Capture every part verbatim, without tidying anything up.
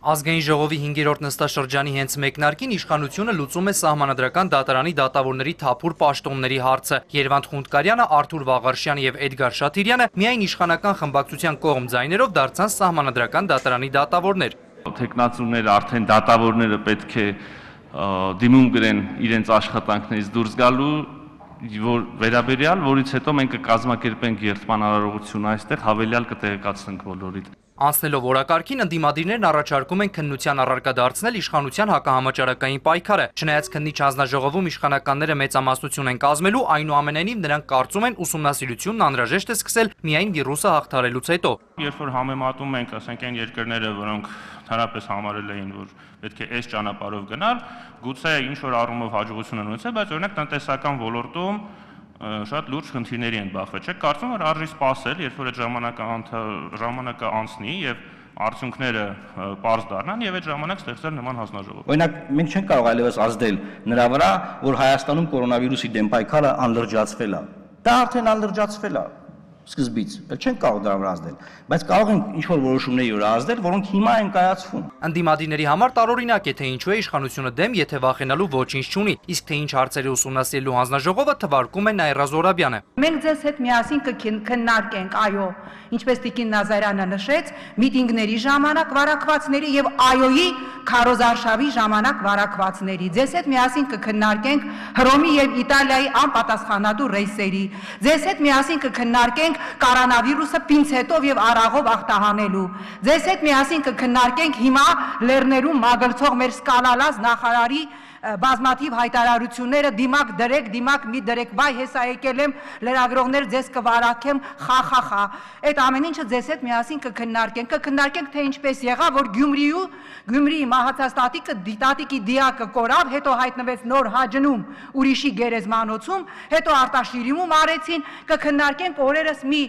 Ազգային ժողովի հինգերորդ նստաշրջանի հենց մեկնարկին իշխանությունը լուծում է սահմանադրական դատարանի դատավորների թափուր պաշտոնների հարցը։ Երվանդ Խունդկարյանը, Արթուր Վաղարշյանը եւ Էդգար Շաթիրյանը միայն իշխանական խմբակցության կողմ ձայներով դարձան սահմանադրական դատարանի դատավորներ։ Թեկնածուները, արդեն դատավորները պետք է դիմում գրեն իրենց աշխատանքներից դուրս գալու որ վերաբերյալ, որից հետո մենք կկազմակերպենք երթման արարողություն այստեղ, հավելյալ կտեղեկացնենք բոլորիդ։ Անցնելով օրակարգին, ընդդիմադիրներն առաջարկում են քննության առարկա դարձնել իշխանության հակահամաճարակային պայքարը։ Չնայած քննիչ հանձնաժողովում իշխանականները մեծամասնություն են կազմելու, այնուամենայնիվ նրանք կարծում են ուսումնասիրությունն անհրաժեշտ է սկսել միայն վիրուսը հաղթահարելուց հետո։ Երբ որ համեմատում ենք, ասենք այն երկրները, որոնք հանրապես համարել էին, որ պետք է այս ճանապարհով գնալ, գուցե ինչ որ առումով հաջողություն են ունեցել, բայց օրինակ տնտեսական ոլորտում շատ լուրջ խնդիրների են բախվել։ Չեք կարծում, որ արժի սպասել, երբ որ այդ ժամանակը ժամանակը անցնի եւ արդյունքները պարզ դառնան եւ այդ ժամանակ ստեղծել նման հանձնաժողով։ Օրինակ, մենք չենք կարող այլևս ազդել նրա վրա, որ Հայաստանում կորոնավիրուսի դեմ պայքարը անլրջացվել է։ Դա արդեն անլրջացվել է սկզբից, չենք կարող դրա վրա ազդել, բայց կարող ենք ինչ-որ որոշումների վրա ազդել, որոնք հիմա են կայացվում։ Ընդդիմադիրների համար տարօրինակ է, թե ինչու է իշխանությունը դեմ, եթե վախենալու ոչինչ չունի, իսկ թե ինչ հարցերի ուսումնասիրելու հանձնաժողովը թվարկում է Նաիրա Զոհրաբյանը։ Մենք ձեզ հետ միասին կքննարկենք, այո, ինչպես Տիկին Նազարյանը նշեց, միտինգների ժամանակ վարակվածների եւ այոյի քարոզարշավի ժամանակ վարակվածների։ Ձեզ հետ միասին կքննարկենք Հռոմի եւ Իտալիայի անպատասխանատու ռեյսերի։ Ձեզ հետ միասին կքննարկենք կորոնավիրուսը պինցետով եւ արաղով ախտահանելու։ Ձեզ հետ միասին կքննարկենք հիմա լեռներում մագլցող մեր սկալալած նախարարի բազմաթիվ հայտարարությունները դիմակ դրեք, դիմակ մի դրեք, վայ հեսա եկել եմ լրագրողներ ձեզ կվարակեմ, խախախա։ Այդ ամեն ինչը ձեզ հետ միասին կքննարկենք, կքննարկենք թե ինչպես եղավ, որ Գյումրիու Գյումրիի մահացած տատիկը տատիկի դիակը կորավ, հետո հայտնվեց նոր Հաջնում ուրիշի գերեզմանոցում, հետո Արտաշիրիմում արեցին, կքննարկենք օրերս մի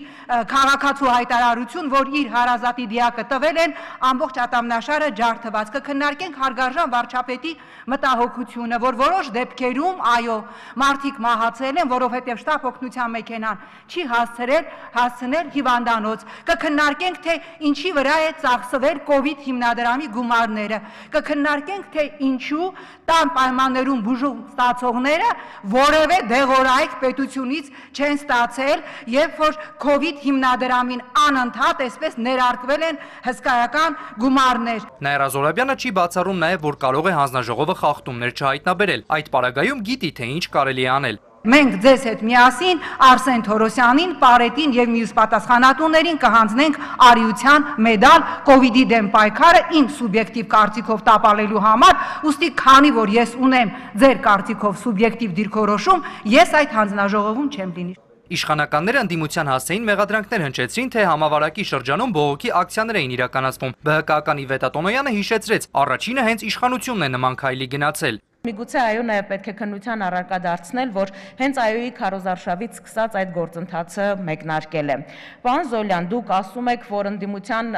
քաղաքացու հայտարարություն, որ իր հարազատի դիակը տվել են, ամբողջ ատամնաշարը ջարդված, կքննարկենք հարգարժան վարչապետի մտահոգությունը, որ որոշ դեպքերում, այո, մարդիկ մահացել են, որովհետև շտապ օգնության մեքենան չի հասցրել հասցնել հիվանդանոց։ Կքննարկենք, թե ինչի վրա է ծախսվել կովիդ հիմնադրամի գումարները, կքննարկենք, թե ինչու տան պայմաններում բուժում ստացողները որևէ դեղորայք պետությունից չեն ստացել, երբ որ կովիդ հիմնադրամին անընդհատ այսպես ներարկվել են հսկայական գումարներ։ Նաիրա Զոհրաբյանը չի բացառում նաև, որ կարող է հանձնաժողովը խախտումներ չհայտնաբերել։ Այդ պարագայում գիտի, թե ինչ կարելի է անել։ Մենք ձեզ հետ միասին Արսեն Թորոսյանին, Պարետին եւ մյուս պատասխանատուներին կհանձնենք արիության մեդալ կովիդի դեմ պայքարը իմ սուբյեկտիվ կարծիքով տապալելու համար, ուստի քանի որ ես ունեմ ձեր կարծիքով սուբյեկտիվ դիրքորոշում, ես այդ հանձնաժողովում չեմ լինի։ Իշխանականները ընդդիմության հասցեին մեղադրանքներ հնչեցրին, թե համավարակի շրջանում բողոքի ակցիաներ էին իրականացվում։ ԲՀԿ-ականի Իվետ Ատոնոյանը հիշեցրեց, առաջինը հենց իշխանությունն է նման քայլի գնացել։ Միգուցե այո նաև պետք է քննության առարկա դարձնել, որ հենց այոյի քարոզարշավից սկսած այդ գործընթացը մեկնարկել է։ Պարոն Զոլյան, դուք ասում եք, որ ընդդիմության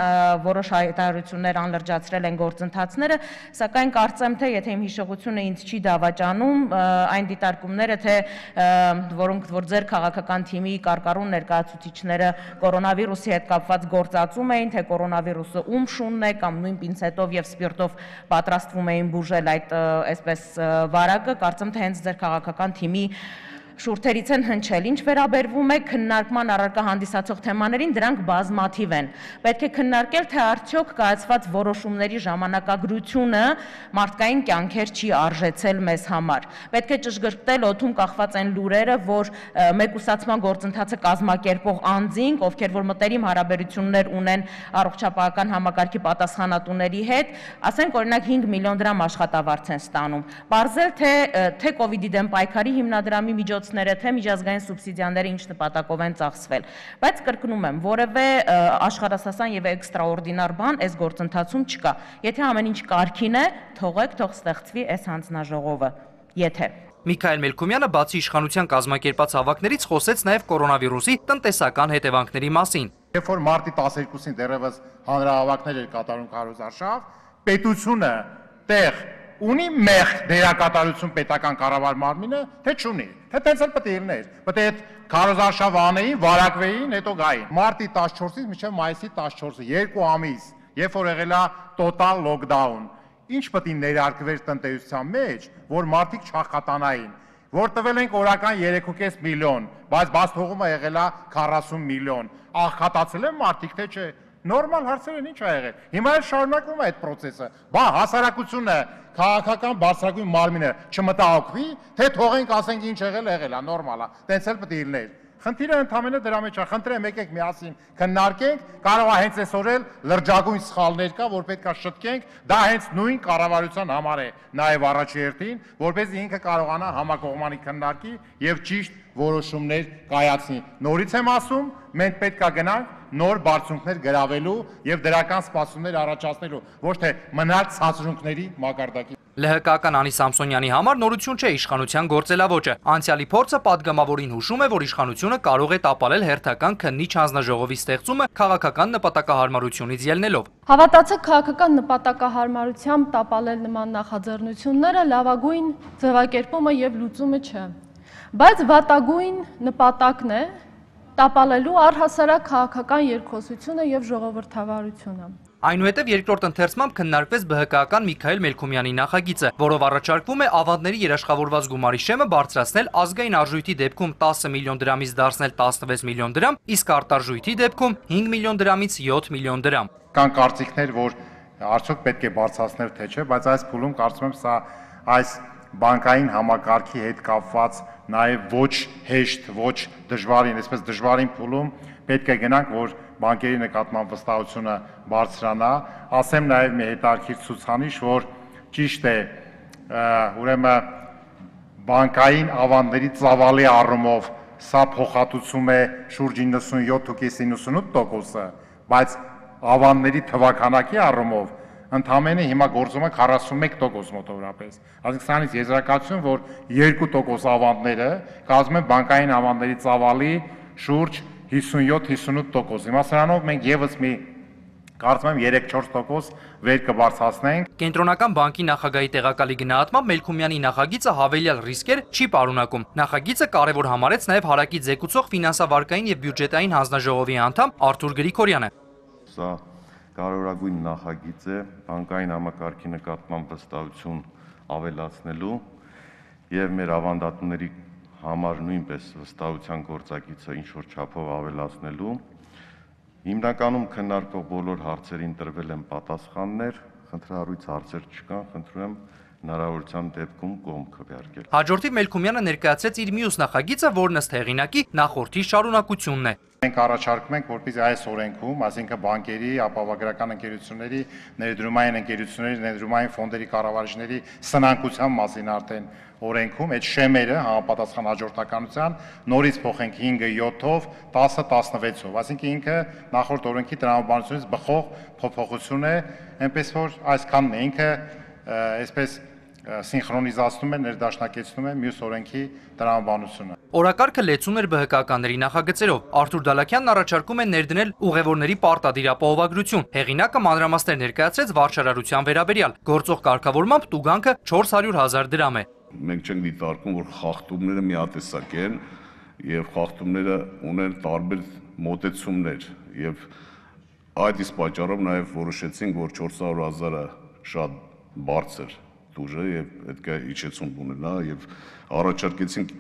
որոշ հայտարարություններ անլրջացրել են գործընթացները, սակայն կարծեմ, թե եթե իմ հիշողությունը ինձ չի դավաճանում, այն դիտարկումները, թե որոնք որ ձեր քաղաքական թիմի կարկառուն ներկայացուցիչները կորոնավիրուսի հետ կապված գործածում էին, թե կորոնավիրուսը ում շունն է կամ նույն պինցետով եւ սպիրտով պատրաստվում էին բուժել այդ այսպես վարակը, կարծեմ, թե հենց ձեր քաղաքական թիմի շուրթերից են հնչել։ Ինչ վերաբերվում է քննարկման առարկա հանդիսացող թեմաներին, դրանք բազմաթիվ են։ Պետք է քննարկել, թե արդյոք կայացված որոշումների ժամանակագրությունը մարդկային կյանքեր չի արժեցել մեզ համար։ Պետք է ճշգրտել օդում կախված այն լուրերը, որ մեկուսացման գործընթացը կազմակերպող անձինք, ովքեր որ մտերիմ հարաբերություններ ունեն առողջապահական համակարգի պատասխանատուների հետ, ասենք օրինակ հինգ միլիոն դրամ աշխատավարձ են ստանում։ Պարզել, թե թե կովիդի դեմ պայքարի հիմնադրամի միջոց թե միջազգային սուբսիդիաները ինչ նպատակով են ծախսվել, բայց կրկնում եմ, որևէ աշխարհասասան եւ էքստրաորդինար բան այս գործընթացում չկա։ Եթե ամեն ինչ կարգին է, թողեք, թող ստեղծվի այս հանձնաժողովը։ Եթե Միքայել Մելքումյանը բացի իշխանության կազմակերպած հավաքներից խոսեց նաև կորոնավիրուսի տնտեսական հետևանքների մասին։ Երբ որ մարտի տասներկուսին դեռևս հանրահավաքներ էր կատարում քարոզարշավ, պետությունը տեղ ունի մեղք դերակատարություն պետական կառավար մարմինը, թե չունի, թե տենց էլ պետք է լիներ, պետք է այդ քարոզարշավը անեին, վարակվեին, հետո գային։ Մարտի տասնչորսից մինչև մայիսի տասնչորսը երկու ամիս երբ որ եղել է տոտալ լոկդաուն, ինչ պետք է ներարկվեր տնտեսության մեջ, որ մարդիկ չախատանային, որ տվել ենք օրական երեք ու կես միլիոն, բայց բացթողումը եղել է քառասուն միլիոն, աղքատացել են մարդիկ, թե չէ, նորմալ հարցեր են, ինչ ա եղել, հիմա էլ շարունակվում է այդ պրոցեսը, բա հասարակությունը, քաղաքական բարձրագույն մարմինը չմտահոգվի, թե թողենք ասենք ինչ եղել, եղել է, նորմալ է, տենց էլ պետք է լիներ։ Խնդիրը ընդհանրապես դրա մեջ է, խնդրեմ եկեք միասին քննարկենք, կարող է հենց այսօր էլ լրջագույն սխալներ կա, որ պետք է շտկենք, դա հենց նույն կառավարության համար է, նաև առաջի հերթին, որպեսզի ինքը կարողանա համակողմանի քննարկի եւ ճիշտ որոշումներ կայացնի։ Նորից եմ ասում, մենք պետք է գնանք նոր բարձունքներ գրավելու եւ դրական սպասումներ առաջացնելու, ոչ թե մնալ ցածրունքների մակարդակի։ ԼՀԿ-ական Անի Սամսոնյանի համար նորություն չէ իշխանության գործելավոճը։ Անցյալի փորձը պատգամավորին հուշում է, որ իշխանությունը կարող է տապալել հերթական քննիչ հանձնաժողովի ստեղծումը քաղաքական նպատակահարմարությունից ելնելով։ Հավատացեք, քաղաքական նպատակահարմարությամբ տապալել նման նախաձեռնությունները լավագույն ձևակերպումը եւ լուծումը չէ։ Բայց վատագույն նպատակն է տապալելու առհասարակ քաղաքական երկխոսությունը եւ ժողովրդավարությունը։ Այնուհետև երկրորդ ընթերցմամբ քննարկվեց ԲՀԿ-ական Միքայել Մելքումյանի նախագիծը, որով առաջարկվում է ավանդների երաշխավորված գումարի շեմը բարձրացնել ազգային արժույթի դեպքում տասը միլիոն դրամից դարձնել տասնվեց միլիոն դրամ, իսկ արտարժույթի դեպքում հինգ միլիոն դրամից յոթ միլիոն դրամ։ Կան կարծիքներ, որ արդյոք պետք է բարձրացնել թե չէ, բայց այս փուլում կարծում եմ սա այս բանկային համակարգի հետ կապված նաև ոչ հեշտ, ոչ դժվարին, այսպես դժվարին փուլում պետք է գնանք, որ բանկերի նկատմամբ վստահությունը բարձրանա, ասեմ նաև մի հետաքրքիր ցուցանիշ, որ ճիշտ է, ուրեմն բանկային ավանդների ծավալի առումով սա փոխհատուցում է շուրջ իննսունյոթ ու իննսունութ տոկոսը, բայց ավանդների թվաքանակի առումով ընդամենը հիմա գործում է քառասունմեկ տոկոս մոտավորապես։ Այսինքն սրանից եզրակացություն, որ երկու տոկոս ավանդները կազմում են բանկային ավանդների ծավալի շուրջ հիսունյոթ հիսունութ տոկոս։ Հիմա սրանով մենք եւս մի կարծում եմ երեք-չորս տոկոս վեր կբարձրացնենք։ Կենտրոնական բանկի նախագահի տեղակալի գնահատմամբ Մելքումյանի նախագիծը հավելյալ ռիսկեր չի պարունակում։ Նախագիծը կարևոր համարեց նաև հարակի ձեկուցող ֆինանսավարկային եւ բյուջետային հանձնաժողովի անդամ Արթուր Գրիգորյանը։ Սա կարևորագույն նախագիծ է բանկային համակարգի նկատմամբ վստահություն ավելացնելու եւ մեր ավանդատուների համար նույնպես վստահության գործակիցը ինչ-որ չափով ավելացնելու։ Հիմնականում քննարկվող բոլոր հարցերին տրվել են պատասխաններ, խնդրահարույց հարցեր չկան, խնդրում եմ հնարավորության դեպքում կողմ քվեարկել։ Հաջորդիվ Մելքումյանը ներկայացրեց իր մյուս նախագիծը, որն ըստ հեղինակի նախորդի շարունակությունն է։ Մենք առաջարկում ենք, որպեսզի այս օրենքում, այսինքն բանկերի, ապահովագրական ընկերությունների, ներդրումային ընկերությունների, ներդրումային ֆոնդերի կառավարիչների սնանկության մասին արդեն օրենքում այդ շեմերը համապատասխան հաջորդականության նորից փոխենք հինգը յոթով, տասը տասնվեցով, այսինքն ինքը նախորդ օրենքի տրամաբանությունից բխող փոփոխություն է, այնպես որ այսքանն է, ինքը այսպես սինխրոնիզացնում է, ներդաշնակեցնում է մյուս օրենքի տրամաբանությունը։ Օրակարգը լեցուն էր ԲՀԿ-ականների նախագծերով։ Արթուր Դալաքյանն առաջարկում է ներդնել ուղևորների պարտադիր ապահովագրություն։ Հեղինակը մանրամասներ ներկայացրեց վարչարարության վերաբերյալ։ Գործող կարգավորմամբ տուգանքը չորս հարյուր հազար դրամ է։ Մենք չենք դիտարկում, որ խախտումները միատեսակ են եւ խախտումները ունեն տարբեր մոտեցումներ եւ այդ իսկ պատճառով նաեւ որոշեցինք, որ չորս հարյուր հազարը շատ բարձր տուժ է եւ պետք է իջեցում ունենա եւ առաջարկեցինք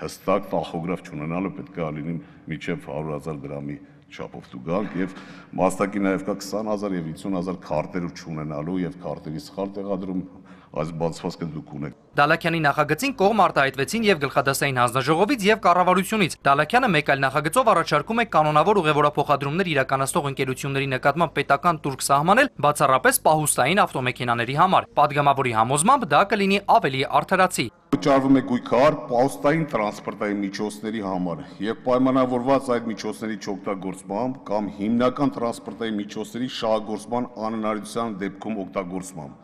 հստակ տախոգրաֆ չունենալը պետք է լինի միջև հարյուր հազար դրամի չափով տուգանք եւ մասնակի նաեւ կա քսան հազար եւ հիսուն հազար քարտեր չունենալու եւ քարտերի սխալ տեղադրում այս բացվածքը դուք ունեք։ Դալաքյանի նախագծին կողմ արտահայտվեցին եւ գլխադասային հանձնաժողովից եւ կառավարությունից։ Դալաքյանը մեկ այլ նախագծով առաջարկում է կանոնավոր ուղևորափոխադրումներ իրականացնող ընկերությունների նկատմամբ պետական տուրք սահմանել բացառապես պահուստային ավտոմեքենաների համար։ Պատգամավորի համոզմամբ դա կլինի ավելի արդարացի։ Վճարվում է գույքար պահուստային տրանսպորտային միջոցների համար եւ պայմանավորված այդ միջոցների չօգտագործմամբ կամ հիմնական տրանսպորտային միջոցների շահագործման անհնարինության դեպքում օգտագործմամբ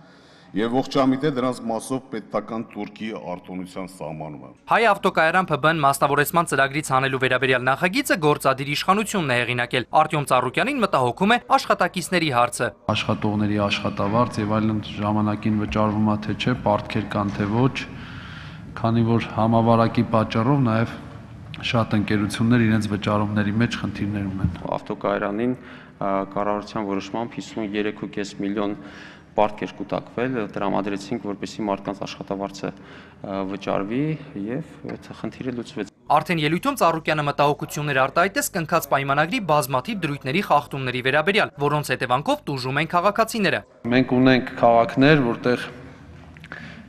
եւ ողջամիտ է դրանց մասով պետական տուրքի արտոնության սահմանումը։ Հայ ավտոկայարան ՓԲ-ն մասնավորեցման ծրագրից հանելու վերաբերյալ նախագիծը գործադիր իշխանությունն է հեղինակել։ Արտյոմ Ծառուկյանին մտահոգում է աշխատակիցների հարցը։ Աշխատողների աշխատավարձ եւ այլն ժամանակին վճարվում է թե չէ, պարտքեր կան թե ոչ, քանի որ համավարակի պատճառով նաեւ շատ ընկերություններ իրենց վճարումների մեջ խնդիրներ ունեն։ Ավտոկայարանին կառավարության որոշմամբ հիսուններեք կόμma պինգ միլիոն պարտքեր կուտակվել, տրամադրեցինք, որպեսզի մարդկանց աշխատավարձը վճարվի եւ այդ խնդիրը լուծվեց։ Արդեն ելույթում Ծառուկյանը մտահոգություններ արտահայտեց կնքած պայմանագրի բազմաթիվ դրույթների խախտումների վերաբերյալ, որոնց հետևանքով տուժում են քաղաքացիները։ Մենք ունենք քաղաքներ, որտեղ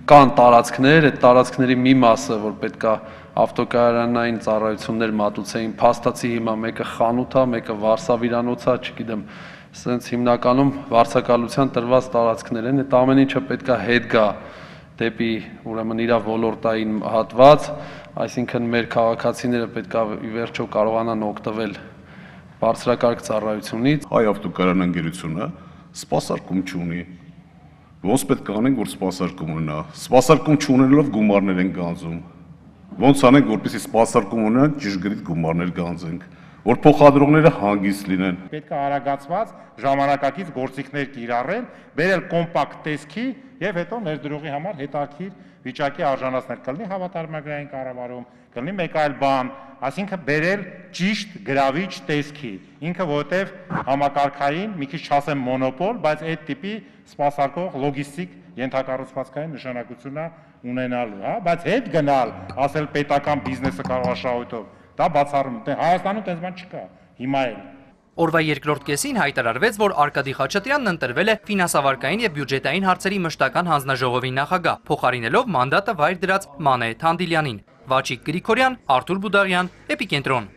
կան տարածքներ, այդ տարածքների մի մասը, որ պետքա ավտոկայանային ծառայություններ մատուցեին, փաստացի հիմա մեկը խանութ է, մեկը վարսավիրանոց է, չգիտեմ, սենց հիմնականում վարձակալության տրված տարածքներ են, այդ ամեն ինչը պետքա հետ գա դեպի ուրեմն իր ոլորտային հատված, այսինքն մեր քաղաքացիները պետքա ի վերջո կարողանան օգտվել բարձրակարգ ծառայությունից։ Հայ ավտոկայան ընկերությունը սպասարկում չունի։ Ոնց պետք է անենք, որ սպասարկում ունենա։ Սպասարկում չունենալով գումարներ են գանձում։ Ոնց անենք, որպեսզի սպասարկում ունենանք, ճշգրիտ գումարներ գանձենք, որ փոխադրողները հանգիստ լինեն։ Պետք է արագացված ժամանակակից գործիքներ կիրառել, բերել կոմպակտ տեսքի եւ հետո ներդրողի համար հետաքրքիր վիճակի արժանացնել, կլինի հավատարմագրային կառավարում, կլինի մեկ այլ բան, այսինքն բերել ճիշտ գրավիչ տեսքի, ինքը որտեվ համակարգային, մի քիչ չասեմ մոնոպոլ, բայց այդ տիպի սպասարկող լոգիստիկ ենթակառուցվածքային նշանակություն է ունենալու, հա, բայց հետ գնալ, ասել պետական բիզնեսը կարող է շահույթով, դա բացառում, դե Հայաստանում այդպես բան չկա, հիմա էլ։ Օրվա երկրորդ կեսին հայտարարվեց, որ Արկադի Խաչատրյանն ընտրվել է ֆինանսավարկային եւ բյուջետային հարցերի մշտական հանձնաժողովի նախագահ, փոխարինելով մանդատը վայր դրած Մանե Թանդիլյանին։ Վաչիկ Գրիգորյան, Արթուր Բուդաղյան, Էպիկենտրոն։